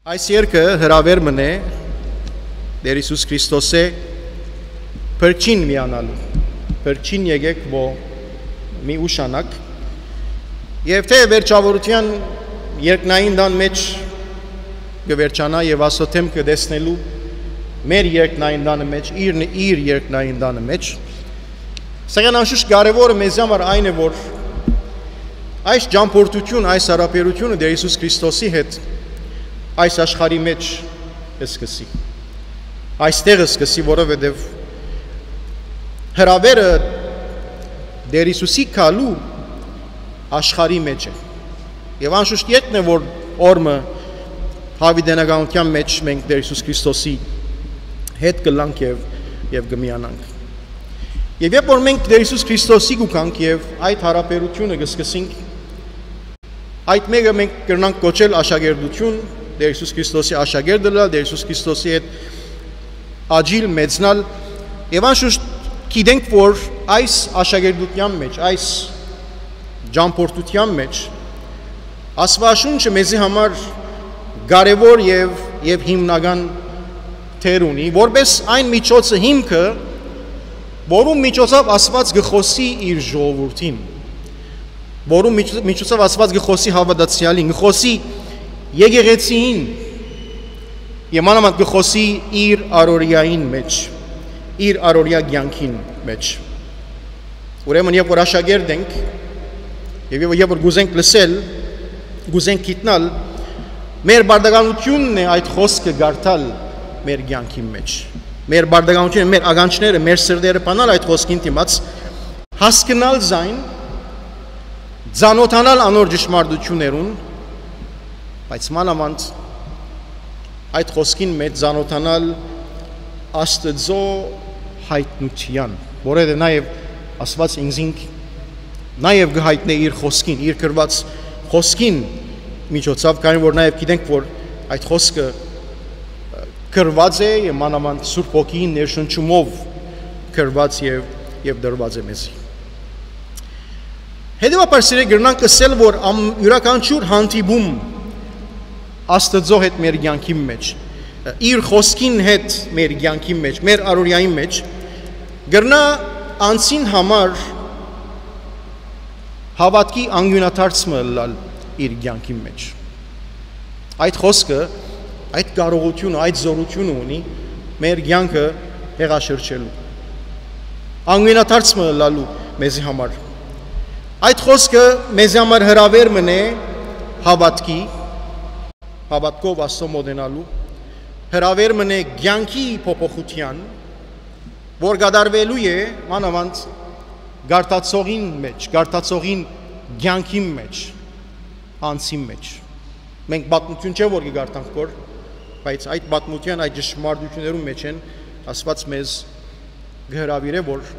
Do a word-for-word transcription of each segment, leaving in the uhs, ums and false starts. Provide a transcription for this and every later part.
Այս երգը հրաւեր մըն է Տէր Յիսուս Քրիստոսէ փրկչին միանալու, փրկչին եկեք, որ մի ուշանաք։ Եւ թէ վերջաւորութեան երկնային տան մէջ կը վերջանայ եւ Աստուծոյ դէմքը տեսնելու մեր երկնային տանը մէջ, իր, իր երկնային տանը մէջ։ Սակայն անշուշտ կարեւորը մեզի համար այն է, որ այս ճամփորդութիւն, այս յարաբերութիւնը Տէր Յիսուս Քրիստոսի հետ այս աշխարհի մէջ կը սկսի։ Այստեղ կը սկսի, որովհետեւ հրաւերը Տէր Յիսուսի գալու աշխարհի մէջ է։ Եւ անշուշտ ետն է, որ օր մը յաւիտենականութեան մէջ մենք Տէր Յիսուս Քրիստոսի հետ կ'ըլլանք եւ, եւ կը միանանք։ Եւ երբ որ մենք Տէր Յիսուս Քրիստոսի կու գանք եւ այդ յարաբերութիւնը կը սկսենք, այդ մէկը մենք կրնանք կոչել աշակերտութիւն, Տէր Յիսուս Քրիստոսի աշակերտը ըլլալ, Տէր Յիսուս Քրիստոսի հետ աճիլ, մեծնալ, եւ անշուշտ գիտենք, որ այս աշակերտութեան մէջ, այս ճամփորդութեան մէջ, Աստուածաշունչը մեզի համար կարեւոր եւ, եւ հիմնական դեր ունի, որպես այն միջոցը, հիմքը, որուն միջոցով Աստուած կը խօսի իր ժողովուրդին, որուն միջ-, միջոցով Աստուած կը խօսի հաւատացեալին, կը խօսի եկեղեցիին, եւ մանաւանդ կը խօսի իր առօրեային մէջ, իր առօրեայ կեանքին մէջ։ Ուրեմն, երբ որ աշակերտ ենք, եւ երբ, երբ որ կ'ուզենք լսել, կ'ուզենք գիտնալ, մեր պարտականութիւնն է այդ խօսքը կարդալ մեր կեանքին մէջ։ Մեր պարտականութիւնը, մեր ականջները, մեր սրտերը բանալ այդ խօսքին դիմաց, հասկնալ զայն, ծանօթանալ անոր ճշմարտութիւններուն, բայց մանաւանդ այդ խօսքին մէջ ծանօթանալ Աստուծոյ յայտնութեան, որովհետեւ նաեւ Աստուած ինքզինք նաեւ կը յայտնէ իր խօսքին, իր գրուած խօսքին միջոցով, քանի որ նաեւ գիտենք, որ այդ խօսքը գրուած է եւ մանաւանդ Սուրբ Հոգիին ներշնչումով գրուած եւ, եւ տրուած է մեզի։ Հետեւաբար, սիրելիներ, կրնանք ըսել, որ ամ-, իւրաքանչիւր հանդիպում Աստուծոյ հետ մեր կեանքին մէջ, իր խօսքին հետ մեր կեանքին մէջ, մեր առօրեային մէջ, կրնայ անձին համար հաւատքի անկիւնադարձ մը ըլլալ իր կեանքին մէջ։ Այդ խօսքը այդ կարողութիւնը, այդ զօրութիւնը ունի մեր կեանքը հեղաշրջելու, անկիւնադարձ մը ըլլալու մեզի համար։ Այդ խօսքը մեզի համար հրաւեր մըն է հաւատքի, հաւատքով Աստծոյ մօտենալու, հրաւեր մըն է կեանքի փոփոխութեան, որ կատարուելու է մանաւանդ կարդացողին մէջ, կարդացողին կեանքին մէջ, անձին մէջ։ Մենք պատմութիւն չէ որ կը կարդանք, որ, բայց այդ պատմութեան, այդ ճշմարտութիւններուն մէջ են Աստուած մեզ կը հրաւիրէ, որ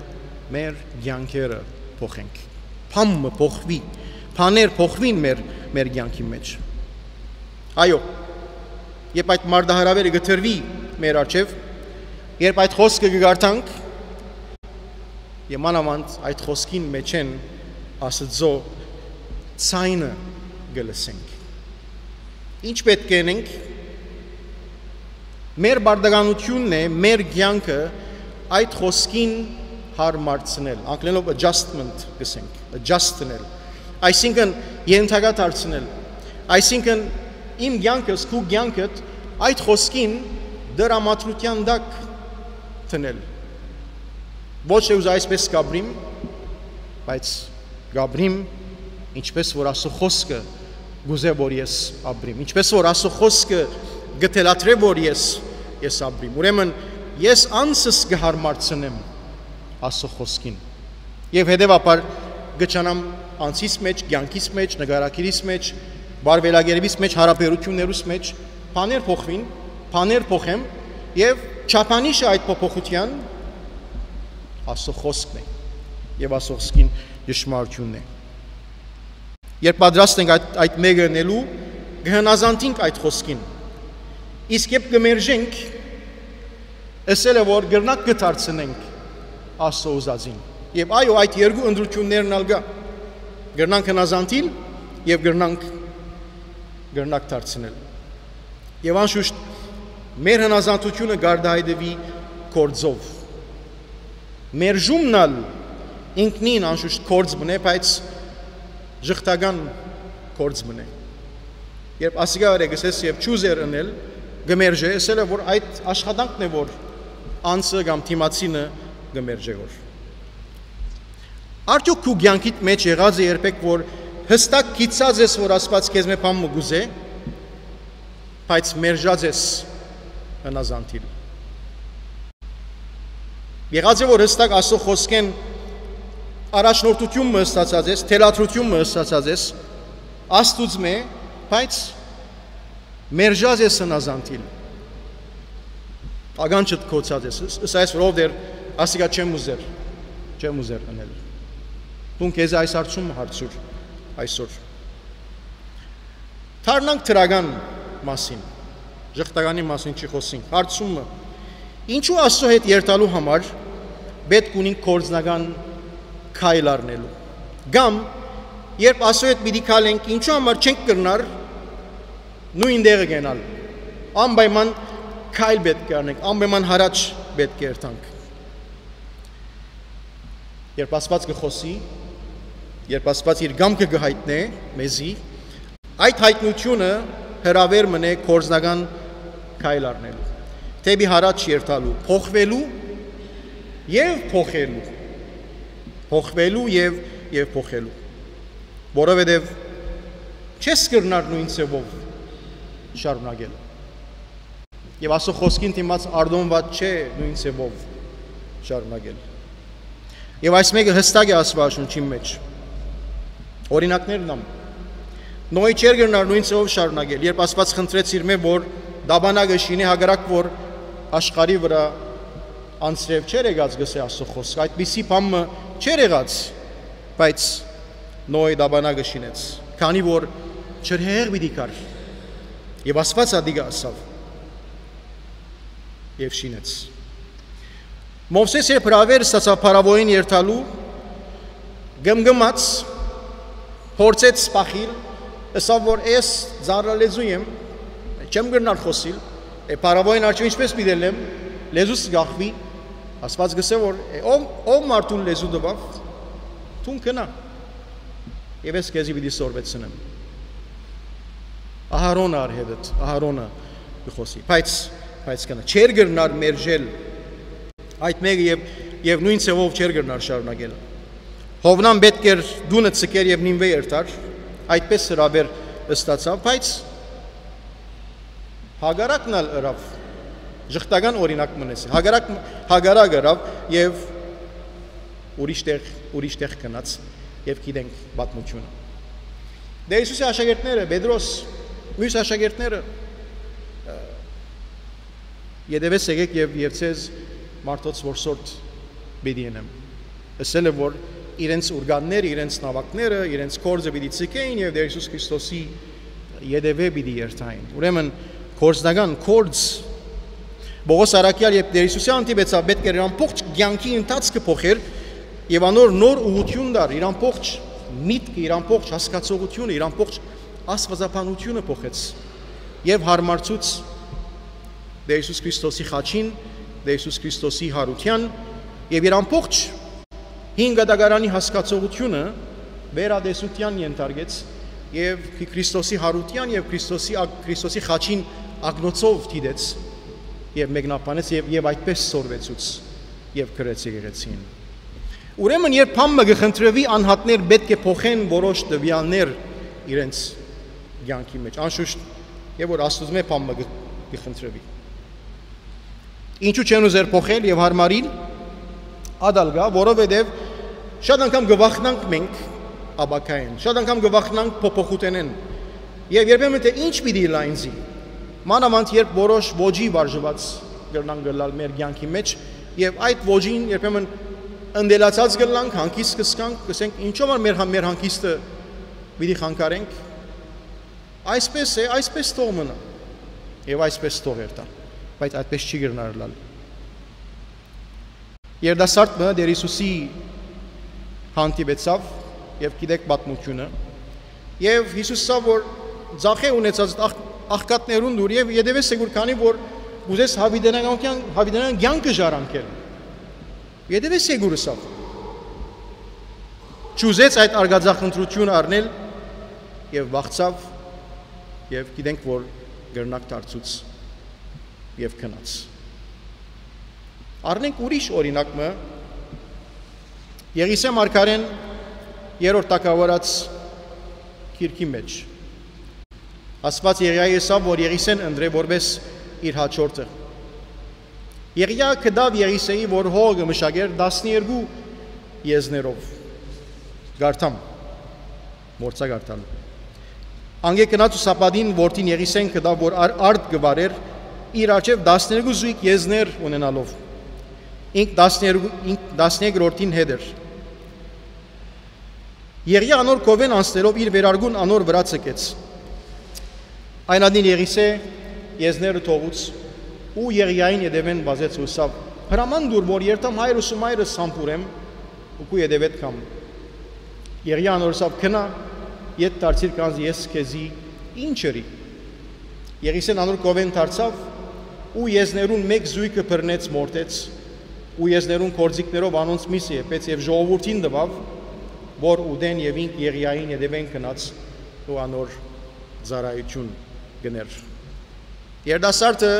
մեր կեանքերը փոխենք։ Բան մը փոխուի, բաներ փոխուին մեր, մեր կեանքին մէջ։ Այո, երբ այդ մարտահրաւերը կը տրուի մեր առջեւ, երբ այդ խօսքը կը կարդանք, եւ մանաւանդ այդ խօսքին մէջ են Աստուծոյ ձայնը կը լսենք։ Ինչ պէտք է ընենք։ Մեր պարտականութիւնն է մեր կեանքը այդ խօսքին հարմարցնել, անգլերէնով adjustment կ'ըսենք, adjustնել, այսինքն՝ ենթակա դարձնել, այսինքն՝ իմ կեանքս, քու կեանքդ այդ խօսքին դրամատրութեան տակ դնել։ Ոչ թե ուզա այսպես կ'ապրիմ, բայց կ'ապրիմ, ինչպես որ Աստուծոյ խօսքը կ'ուզէ որ ես ապրիմ, ինչպես որ Աստուծոյ խօսքը կը թելադրէ որ ես, ես ապրիմ։ Ուրեմն ես անձս կը հարմարցնեմ Աստուծոյ խօսքին։ Եւ հետեւաբար կը ճանամ անձիս մէջ, կեանքիս մէջ, նկարագիրիս մէջ, վարվելակերպիս մէջ, յարաբերութիւններուս մէջ, բաներ փոխուին, բաներ փոխեմ, եւ չափանիշը այդ փոփոխութեան Աստուծոյ խօսքն է, եւ Աստուծոյ խօսքին ճշմարտութիւնն է։ Երբ պատրաստ ենք այդ, այդ մէկը ընելու, կը հնազանդինք այդ խօսքին։ Իսկ երբ կը մերժենք, ըսել է որ կրնանք կը դարձնենք Աստուծոյ ուզածին։ Եւ այո, այդ երկու ընտրութիւններն ալ կայ։ Կրնանք հնազանդիլ եւ կրնանք, կրնանք դարձնել։ Եւ անշուշտ մեր հնազանդութիւնը կ'արտայայտուի գործով։ Մերժումն ալ ինքնին անշուշտ գործ մնէ, բայց ժխտական գործ մնէ։ Երբ ասիկա արեգսես եւ չուզեր ընել, կը մերժէ, ըսել է, որ այդ աշխատանքն է, որ անձը կամ դիմացինը կը մերժէ որ։ Արդյոք քու կեանքիդ մէջ եղած է երբեք, որ հստակ գիտցած ես, որ Աստուած քեզմէ բան մը կ'ուզէ, բայց մերժած ես հնազանդիլ։ Եղած է, որ հստակ Աստուծոյ խօսքէն առաջնորդութիւն մը ստացած ես, թելադրութիւն մը ստացած ես Աստուծմէ, բայց մերժած ես հնազանդիլ։ Ականջդ գոցած ես, ըս-, ըսայ ես, որ ով դեր, ասիկա չեմ ուզեր, չեմ ուզեր ընել։ Դուն քեզի այս հարցումը հարցուր այսօր։ Դառնանք դրական մասին, ժխտականի մասին չի խօսինք։ Հարցումը, ինչու Աստուծոյ հետ երթալու համար պէտք ունինք գործնական քայլ առնելու։ Կամ, երբ Աստուծոյ հետ պիտի քայլենք, ինչու համար չենք կրնար նոյն տեղը գնալ։ Անպայման քայլ պէտք է առնենք, անպայման յառաջ պէտք է երթանք։ Երբ Աստուած կը խօսի, երբ Աստուած իր կամքը կը յայտնէ մեզի, այդ յայտնութիւնը հրաւեր մնէ գործնական քայլ առնելու, դէպի յառաջ երթալու, փոխուելու եւ փոխելու, փոխուելու եւ, եւ փոխելու, որովհետեւ չես կրնար նոյն ձեւով շարունակել։ Եւ Աստուծոյ խօսքին դիմաց արտոնուած չէ նոյն ձեւով շարունակել։ Եւ այս մէկը հստակ է Աստուածաշունչին մէջ։ Օրինակներն ամ։ Նոյ չէր կրնար նոյն ձեւով շարունակել, երբ Աստուած խնդրեց իրմէ, որ տապանակ շինէ, հակառակ որ աշխարհի վրայ անձրեւ չէր եկած, կ'ըսէ Աստուծոյ խօսքը, այդպիսի բան մը չէր եղած, բայց Նոյ տապանակ շինեց, քանի որ ջրհեղեղ պիտի գար։ Եւ Աստուած ատիկա ըսաւ եւ շինեց։ Մովսէս երբ հրաւեր ստացաւ փարաւոյին երթալու, կմկմաց, փորձեց սպասիլ, ըսաւ, որ ես ծանրալեզու եմ, չեմ կրնար խօսիլ, է, փարաւոյին առջեւ ինչպէս պիտի ելեմ, լեզուս կախուի։ Աստուած կ'ըսէ, որ, է, ով, ով մարդուն լեզու տուաւ, դուն գնա։ Եւ ես քեզի պիտի սորվեցնեմ։ Ահարոնը առ հետդ, Ահարոնը կը խօսի, բայց, բայց կնա, չէր կրնար մերժել այդ մէկը եւ, եւ նոյն ձեւով չէր կրնար շարունակել։ Յովնան պէտք էր տունը ձգեր եւ Նինուէ երթար, այդպէս հրաւեր ստացաւ, բայց հակառակն ալ ըրաւ, ժխտական օրինակ մնես, հակառակ, հակառակ ըրաւ եւ ուրիշ տեղ, ուրիշ տեղ գնաց եւ գիտենք պատմությունը։ Դե Յիսուսի աշակերտները, Պետրոս, մյուս աշակերտները, ը, ետեւէս եկեք եւ, եւ ձեզ մարդոց որսորդ պիտի ընեմ։ Ըսել է, որ իրենց ուրգանները, իրենց նաւակները, իրենց գործը պիտի ձգէին եւ Տեր Յիսուս Քրիստոսի ետեւէ պիտի երթային։ Ուրեմն, գործնական գործ, Պողոս առաքյալ, երբ Տեր Յիսուսի հանդիպեցաւ, պէտք էր իր ամբողջ կեանքի ընթացքը փոխեր եւ անոր նոր ուղղութիւն տար, իր ամբողջ միտքը, իր ամբողջ հասկացողությունը, իր ամբողջ աստվածաբանությունը փոխեց եւ հարմարցուց Տեր Յիսուս Քրիստոսի խաչին, Տեր Յիսուս Քրիստոսի յարութեան եւ իր ամբողջ հին կտակարանի հասկացողությունը վերատեսութեան ենթարկեց եւ Քրիստոսի յարութեան եւ Քրիստոսի ակ-, Քրիստոսի խաչին ակնոցով դիտեց եւ մեկնաբանեց եւ, եւ այդպես սորվեցուց եւ գրեց եկեղեցին։ Ուրեմն, երբ բան մը կը խնդրուի, անհատներ պէտք է փոխեն որոշ տվեալներ իրենց կեանքի մէջ, անշուշտ, եւ որ Աստուծմէ բան մը կը, կը խնդրուի։ Ինչու՞ չեն ուզեր փոխել եւ հարմարիլ ատալ գայ, որովհետեւ շատ անգամ կը վախնանք մենք ապագային, շատ անգամ կը վախնանք փոփոխութենէն, եւ երբեմն թէ ինչ պիտի ըլլայ ինձի, մանաւանդ երբ որոշ ոճի վարժուած կրնանք ըլլալ մեր կեանքի մէջ, եւ այդ ոճին երբեմն ընտելացած կ'ըլլանք, հանգիստ կ'զգանք, կ'ըսենք, ինչո՞վ ա մեր, մեր հանգիստը պիտի խանգարենք։ Այսպես է, այսպես թող մնայ, եւ այսպես թող երթայ, բայց այդպես չի կրնար ըլլալ։ Երիտասարդ մը Տեր Յիսուսի հանդիպեցաւ, եւ գիտեք պատմությունը, եւ Յիսուս ասաւ, որ ձախէ ունեցածդ ախ-, աղքատներուն դուր եւ ետեւէս եկուր, քանի որ կ'ուզես յաւիտենական կեան-, յաւիտենական կեանքը ժառանգել։ Ետեւէս եկուր ըսաւ։ Չուզեց այդ արկածախնդրութիւնը առնել եւ վախցաւ, եւ գիտենք որ կրնակ դարձուց եւ գնաց։ Առնենք ուրիշ օրինակ մը, Եղիսէ մարգարէն երրորդ թագաւորաց գիրքի մէջ։ Աստուած Եղիային ըսաւ որ Եղիսէն ընտրէ որպէս իր յաջորդը։ Եղիա գտաւ Եղիսէի որ հողը կը մշակէր տասներկու եզներով։ Կարդամ, մոռցայ կարդալ։ Անկէ գնաց ու Սապատին որդին Եղիսէն գտաւ որ ար-, արդ կը վարէր, իր առջեւ տասներկու զոյգ եզներ ունենալով։ Ինք տասներկու, ինք տասներկրորդին հետ էր։ Եղիա անոր քովէն անցնելով իր վերարկուն անոր վրայ ցկեց։ Այն ատին Եղիսէ եզները թողուց ու Եղիային ետեւէն վազեց ու ըսաւ. «Հրաման տուր որ երթամ հայրս ու մայրս սամբուրեմ ու քու ետեւէդ գամ»։ Եղիան անոր ըսաւ. «Գնա, ետ դարձիր, քանզի ես քեզի ինչ ըրի»։ Եղիսէն անոր քովէն դարձաւ ու եզներուն մէկ զոյգը բռնեց, մորթեց ու եզներուն գործիքներով անոնց միսը եփեց եւ ժողովուրդին տուաւ որ ուտեն, եւ ինք Եղիային ետեւէն գնաց ու անոր ծառայութիւն կ'ընէր։ Երիտասարդը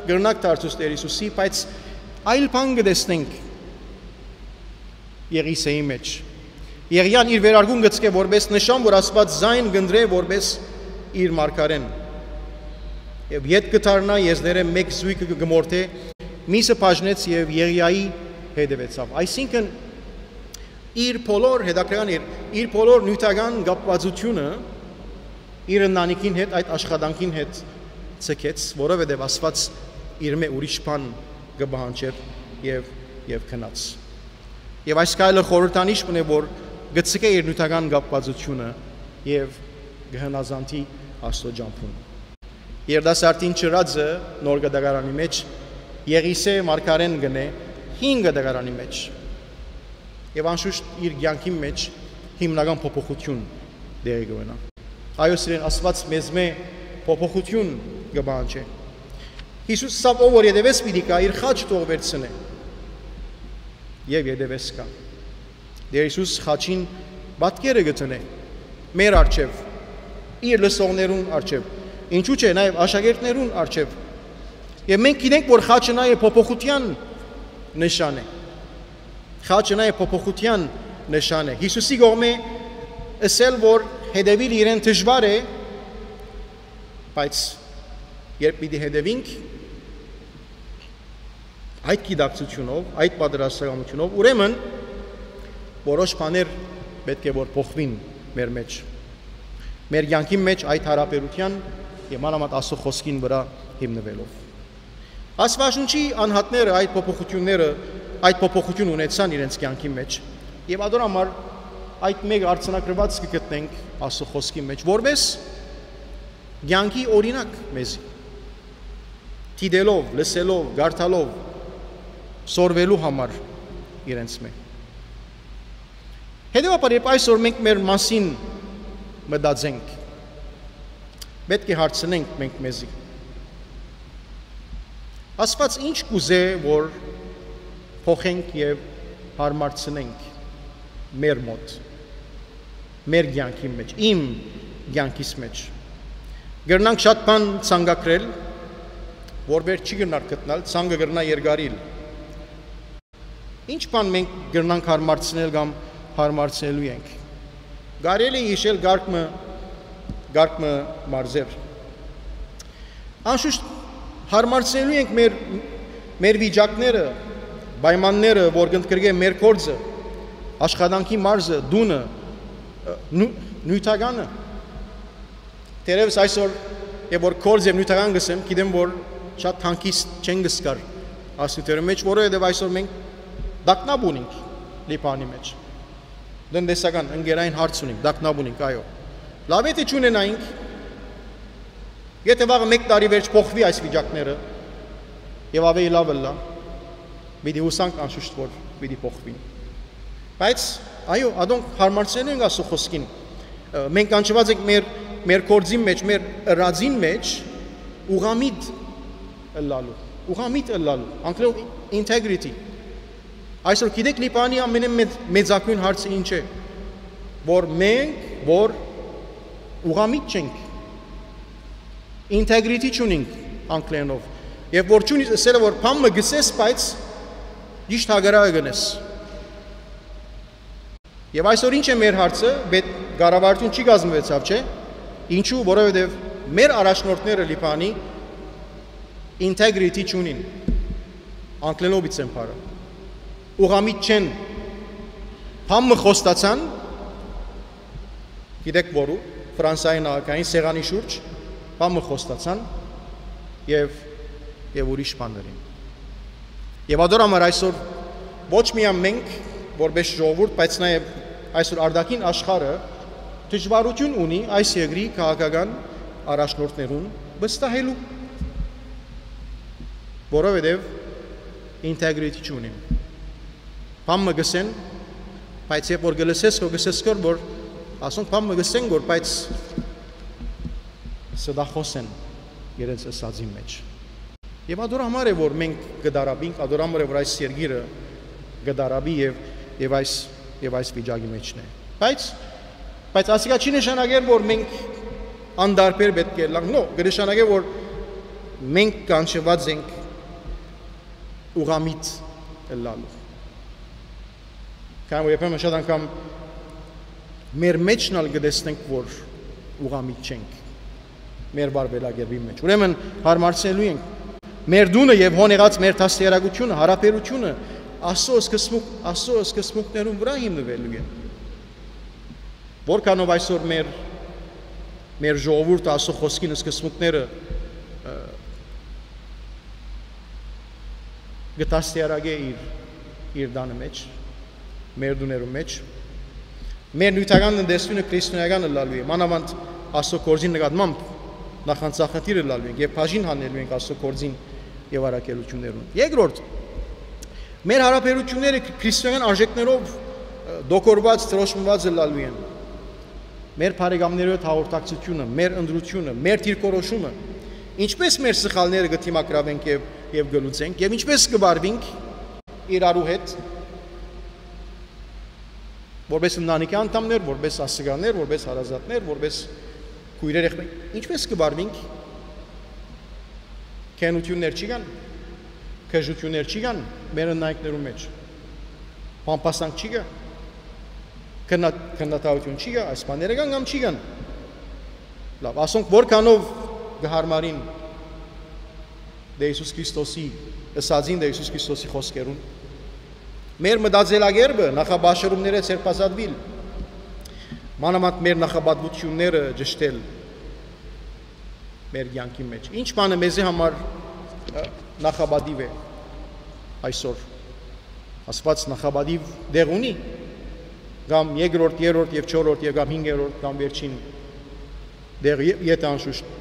կրնակ դարձուց Տէր Յիսուսի, բայց այլ բան կը տեսնենք Եղիսէի մէջ։ Եղիան իր վերարկուն գցկէ որպէս նշան որ Աստուած զայն կ'ընտրէ որպէս իր մարգարէն։ Եւ ետ կը դառնայ, եզներէ մէկ զոյգը կը մորթէ, միսը բաժնեց եւ Եղիայի հետեւեցաւ։ Այսինքն իր բոլոր, հետաքրքրական էր, իր բոլոր նիւթական կապվածությունը իր ընտանիքին հետ, այդ աշխատանքին հետ ցկեց, որովհետեւ Աստուած իրմէ ուրիշ բան կը պահանջէր եւ, եւ գնաց։ Եւ այս քայլը խորհրդանիշ մնէ որ կը ցկէ իր նիւթական կապվածությունը եւ կը հնազանդի Աստուծոյ ճամբուն։ Երիտասարդին չըրածը նոր կտակարանի մէջ Եղիսէ մարգարէն կ'ընէ հին կտակարանի մէջ։ Եւ անշուշտ իր կեանքին մէջ հիմնական փոփոխութիւն տեղի կ'ունենայ։ Այո, սիրեն, Աստուած մեզմէ փոփոխութիւն կը պահանջէ։ Յիսուս ըսաւ. «Ով որ ետեւէս պիտի գայ, իր խաչը թող վերցնէ եւ ետեւէս գայ»։ Տէր Յիսուս խաչին պատկերը կը դնէ մեր առջեւ, իր լսողներուն առջեւ, ինչու՞ չէ, նաեւ աշակերտներուն առջեւ։ Եւ մենք գիտենք որ խաչը նաեւ փոփոխութեան նշան է։ Խաչը նաեւ փոփոխութեան նշան է։ Յիսուսի կողմէ ըսել որ հետեւիլ իրեն դժուար է, բայց երբ պիտի հետեւինք այդ գիտակցութիւնով, այդ պատրաստակամութիւնով, ուրեմն որոշ բաներ պէտք է որ փոխուին մեր մէջ, մեր կեանքին մէջ այդ յարաբերութեան եւ մանաւանդ Աստուծոյ խօսքին վրայ հիմնուելով։ Աստուածաշունչի անհատները այդ փոփոխութիւնները, այդ փոփոխութիւն ունեցան իրենց կեանքին մէջ, եւ ատոր համար այդ մէկ արձանագրուած կը գտնենք Աստուծոյ խօսքին մէջ որպէս կեանքի օրինակ մեզի, դիտելով, լսելով, կարդալով, սորվելու համար իրենց մէ։ Հետեւաբար երբ այսօր մենք մեր մասին մտածենք, պէտք է հարցնենք մենք մեզի. Աստուած ի՞նչ կ'ուզէ որ փոխենք եւ հարմարցնենք մեր մօտ, մեր կեանքին մէջ, իմ կեանքիս մէջ։ Կրնանք շատ բան ցանկագրել, որ վեր չի կրնար գտնալ, ցանկը կրնայ երկարիլ։ Ի՞նչ բան մենք կրնանք հարմարցնել կամ հարմարցնելու ենք։ Կարելի է յիշել կարգ մը, կարգ մը մարզեր։ Անշուշտ հարմարցնելու ենք մեր, մեր վիճակները, պայմանները, որ կընդգրկեն մեր գործը, աշխատանքի մարզը, տունը, նու-, նիւթականը։ Թերեւս այսօր, երբ որ գործ եւ նիւթական կ'ըսեմ, գիտեմ որ շատ հանգիստ չեն կ'զգար այս նիւթերու մէջ, որովհետեւ այսօր մենք տագնապ ունենք Լիբանանի մէջ։ Տնտեսական, ընկերային հարց ունենք, տագնապ ունենք, այո։ Լաւ է թէ չունենայինք, եթե վաղը մէկ տարի վերջ փոխուի այս վիճակները եւ աւելի լաւ ըլլայ, պիտի յուսանք անշուշտ որ պիտի փոխուին։ Բայց, այո, ադոնք հարմարցնելու ենք Աստուծոյ խօսքին։ Ը, մենք կանչուած ենք մեր, մեր գործին մէջ, մեր ըրածին մէջ ուղղամիտ ըլլալու, ուղղամիտ ըլլալու, անգլերով integrity։ Այսօր գիտեք, Լիբանանի ամենէն մեծ, մեծագոյն հարցը ինչ է, որ մենք, որ ուղղամիտ չենք, integrity չունենք անգլերենով, եւ որ չունի, ասել է, որ բան մը գսես, բայց ճիշդ հակառակը գնես։ Եւ այսօր ինչ է մեր հարցը, պետ կառավարութիւն չի կազմուեցաւ, չէ՞։ Ինչու, որովհետեւ մեր առաջնորդները Լիբանանի integrity չունին, անգլերենով իցեն բառը, ուղղամիտ չեն, բան մը խոստացան, գիտեք որու, Ֆրանսայի նախագահին սեղանի շուրջ, բան մը խոստացան եւ, եւ ուրիշ բաներ են։ Եւ ադոր համար այսօր ոչ միայն մենք, որպես ժողովուրդ, բայց նաեւ այսօր արտաքին աշխարհը դժվարութիւն ունի այս երկրի քաղաքական առաջնորդներուն վստահելու, որովհետեւ integrity չունին։ Բան մը գսեն, բայց երբ որ գլսես, քո գսես կոր, որ ասոնք բան մը գսեն կոր, բայց ստախոս են իրենց ըսածին մեջ։ Եւ ադոր համար է, որ մենք կդարաբինք, ադոր համար է, որ այս երկիրը կդարաբի եւ, եւ այս, եւ այս վիճակի մեջն է։ Բայց, բայց ասիկա չի նշանակեր, որ մենք անդարբեր պետք է լանք, նո, կնշանակե, որ մենք կանչված ենք ուղղամիտ ըլլալու։ Քան որ երբեմն շատ անգամ մեր մեջն ալ կը տեսնենք, որ ուղղամիտ չենք մեր վարվելակերպին մեջ։ Ուրեմն հարմարցնելու ենք մեր տունը եւ հոն եղած մեր դաստիարակությունը, հարաբերությունը Աստծո սկզբունք, Աստծո սկզբունքներուն վրայ հիմնուելու է։ Որքանով այսօր մեր, մեր ժողովուրդը Աստծո խոսքին սկզբունքները, ը, կը դաստիարակէ իր, իր տանը մեջ, մեր տուներու մեջ, մեր նիւթական տնտեսութիւնը քրիստոնեական ըլլալու է, մանաւանդ Աստծո գործին նկատմամբ նախանձախնդիր ըլլալու ենք եւ բաժին հանելու ենք Աստծո գործին եւ առաքելութիւններուն։ Երկրորդ, մեր հարաբերութիւնները քրիստոնեական արժեքներով, ը, դոկորված, դրոշմուած ըլլալու են։ Մեր բարեկամներու հետ հաղորդակցությունը, մեր ընտրությունը, մեր դիրքորոշումը, ինչպե՞ս մեր սխալները կը դիմագրաւենք եւ, եւ կը լուծենք, եւ ինչպե՞ս կը վարուինք իրարու հետ, որպես ընտանիքի անդամներ, որպես ասիկաներ, որպես հարազատներ, որպես քոյրեր, եղբայր, ինչպե՞ս կը վարուինք։ Քենութիւններ չի կան, քեժութիւններ չի կան մեր ընտանիքներու մեջ, բամբասանք չի կա, քննա-, քննադատութիւն չի կա, այս բաները կան կամ չի կան։ Լաւ, ասոնք որքանով կը հարմարին Տէ Յիսուս Քրիստոսի, ըսածին Տէ Յիսուս Քրիստոսի խօսքերուն։ Մեր մտածելակերպը նախապաշարումները ձերբազատուիլ, մանաւանդ մեր նախապատվութիւնները ճշտել մեր կեանքի մեջ։ Ինչ բանը մեզի համար, ը, նախապատիւ է այսօր։ Աստուած նախապատիւ տեղ ունի, կամ երկրորդ, երրորդ եւ չորրորդ եւ կամ հինգերորդ կամ վերջին տեղ, ե-, եթէ անշուշտ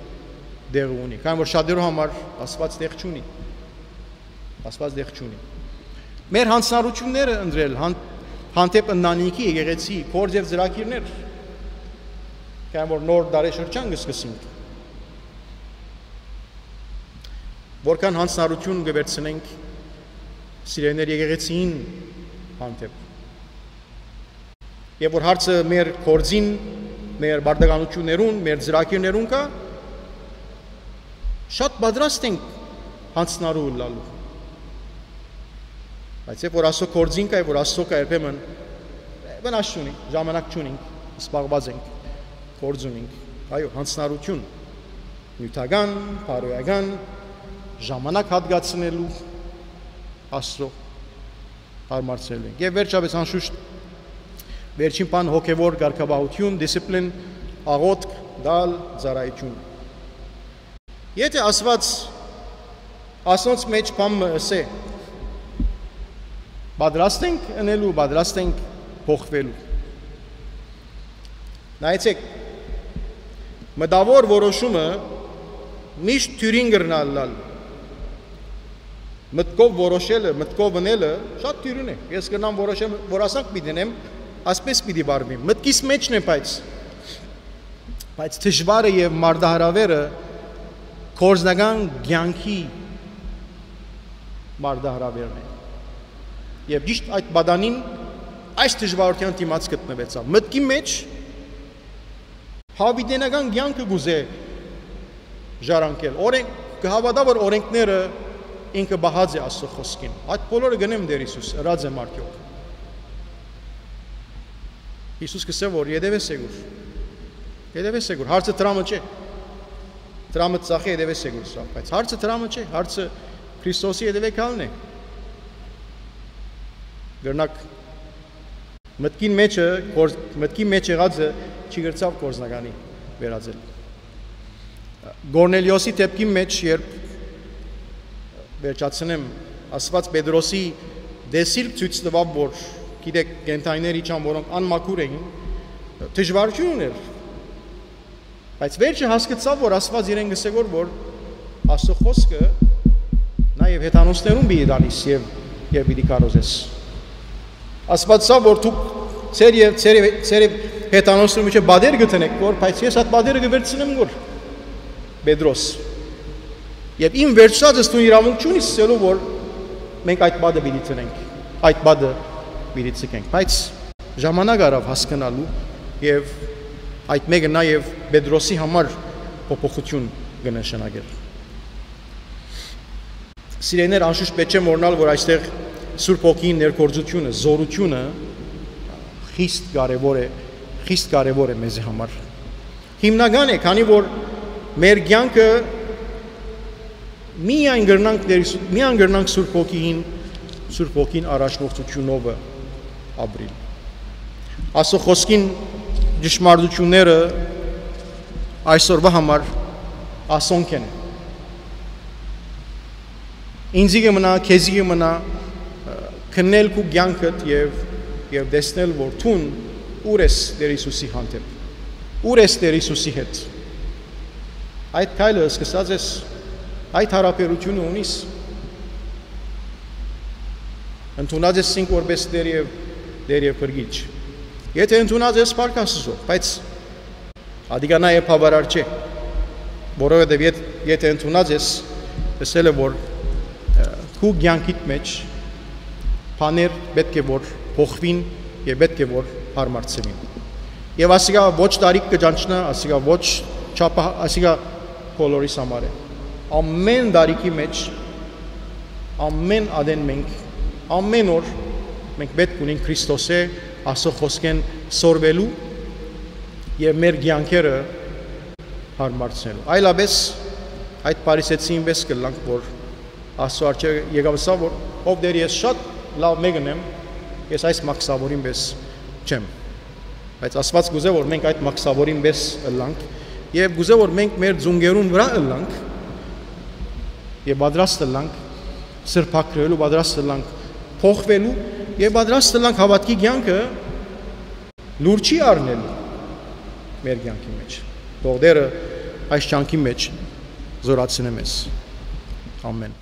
տեղ ունի։ Քանի որ շատերու համար Աստուած տեղ չունի։ Աստուած տեղ չունի։ Մեր յանձնառութիւնները ընտրել հան-, հանդէպ ընտանիքի, եկեղեցի, գործ եւ ծրագիրներ, քանի որ նոր դարեշրջան կը սկսենք, որքան յանձնառութիւն կը վերցնենք սիրելիներ եկեղեցին հանդէպ։ Եւ որ հարցը մեր գործին, մեր պարտականութիւններուն, մեր ծրագիրներուն կա, շատ պատրաստ ենք յանձնառու ըլլալու։ Բայց երբ որ Աստծո գործին կայ, որ Աստծո կայ, երբեմն վնաս չունի, ժամանակ չունենք, սպառված ենք, գործ ունենք։ Այո, յանձնառութիւն, նիւթական, բարոյական, ժամանակ հատկացնելու Աստծո հարմարցնելու ենք։ Եւ վերջապէս անշուշտ վերջին բան հոգեվոր կարգապահութիւն, դիսցիպլին, աղօթք, տալ, ծառայութիւն։ Եթէ Աստուած ասոնց մեջ բան մը ըսէ, պատրաստ ենք ընելու, պատրաստ ենք փոխվելու։ Նայեցեք, մտաւոր որոշումը միշտ դիւրին կրնայ ըլլալ։ Մտքով որոշելը, մտքով ընելը շատ դիւրին է։ Ես կրնամ որոշեմ, որ ասանք պիտի ընեմ, ասպէս պիտի վարվեմ։ Մտքիս մեջն է, բայց, բայց դժուարը եւ մարտահրավերը Գործնական կեանքի մարտահրաւերն է։ Եւ ճիշտ այդ պատանին այս դժուարութեան դիմաց գտնուեցաւ։ Մտքի մէջ յաւիտենական կեանքը կ'ուզէ ժառանգել։ Օրենք, կը հաւատայ, որ օրենքները ինքը պահած է Աստուծոյ խօսքին։ Այդ բոլորը կ'ընեմ Տէր Յիսուս, ըրած եմ արդեօք։ Յիսուս կ'ըսէ, որ ետեւէս եկուր։ Ետեւէս եկուր։ Հարցը դրամը չէ։ Դրամը ծախէ, ետեւէս եկուր սա, բայց հարցը դրամը չէ, հարցը Քրիստոսի ետեւէ գալն է։ Կրնակ մտքին մեջը, գործ-, մտքին մեջ եղածը չի կրցաւ գործնականի վերածել։ Կորնելիոսի դէպքին մեջ, երբ վերջացնեմ, Աստուած Պետրոսի տեսիլք ցոյց տուաւ, որ, գիտեք, կենդանիներ իջան, որոնք անմաքուր էին, դժուարութիւն ուներ, բայց վերջը հասկցաւ, որ Աստուած իրեն կ'ըսէ, որ, որ Աստուծոյ խօսքը նաեւ հեթանոսներուն պիտի տանիս եւ, եւ պիտի քարոզես։ Աստուած սա, որ դուք ձեր եւ, ձեր եւ, ձեր եւ հեթանոսներուն միջեւ պատեր կը դնեք, որ, բայց ես այդ պատերը կը վերցնեմ, որ Պետրոս։ Եւ իմ վերջացածս դու իրաւունք չունիս ասելու, որ մենք այդ պատը պիտի դնենք, այդ պատը պիտի ձգենք, բայց ժամանակ առաւ հասկնալու եւ այդ մէկը նաեւ Պետրոսի համար փոփոխութիւն կը նշանակեր։ Սիրելիներ, անշուշտ պէտք չէ մոռնալ, որ այստեղ Սուրբ Հոգին ներգործութիւնը, զօրութիւնը խիստ կարեւոր է, խիստ կարեւոր է մեզի համար։ Հիմնական է, քանի որ մեր կեանքը միայն կրնանք Տեր Հիսու-, միայն կրնանք Սուրբ Հոգին, Սուրբ Հոգին առաջնորդությունովը ապրիլ։ Աստուծոյ խօսքին ճշմարտությունները այսօրվա համար ասոնք են։ Ինձի կը մնայ, քեզի կը մնայ, ը, քննել քու կեանքդ եւ, եւ տեսնել, որ դուն ո՞ւր ես Տեր Հիսուսի հանդէպ, ո՞ւր ես Տեր Հիսուսի հետ։ Այդ քայլը սկսած ես, այդ յարաբերութիւնը ունիս, ընդունած ես ինք որպէս Տէր եւ, Տէր եւ Փրկիչ։ Եթե ընդունած ես, փառք Աստուծոյ, բայց ատիկա նաեւ բաւարար չէ, որովհետեւ եթ-, եթե ընդունած ես, ըսել է, որ, ը, քու կեանքիդ մեջ բաներ պէտք է որ փոխուին եւ պէտք է որ հարմարցուին։ Եւ ասիկա ոչ տարիք կը ճանչնայ, ասիկա ոչ չափա-, ասիկա բոլորիս համար է։ Ամէն տարիքի մեջ, ամէն ատեն մենք, ամէն օր մենք պէտք ունենք Քրիստոսէ, Աստուծոյ խօսքէն սորվելու եւ մեր կեանքերը հարմարցնելու։ Այլապես այդ փարիսեցին պէս կ'ըլլանք, որ Աստուծոյ առջեւ եկաւ ըսաւ, որ ով Տէր, ես շատ լաւ մէկն եմ, ես այս մաքսաւորին պէս չեմ։ Բայց Աստուած կ'ուզէ, որ մենք այդ մաքսաւորին պէս ըլլանք եւ կ'ուզէ, որ մենք մեր ծունկերուն վրայ ըլլանք եւ պատրաստ ըլլանք սրբագրելու, պատրաստ ըլլանք փոխվելու եւ պատրաստ ըլլանք հաւատքի կեանքը լուրջ առնելու մեր կեանքի մեջ։ Թող Տէրը այս կեանքի մեջ զորացնէ մեզ։ Ամէն։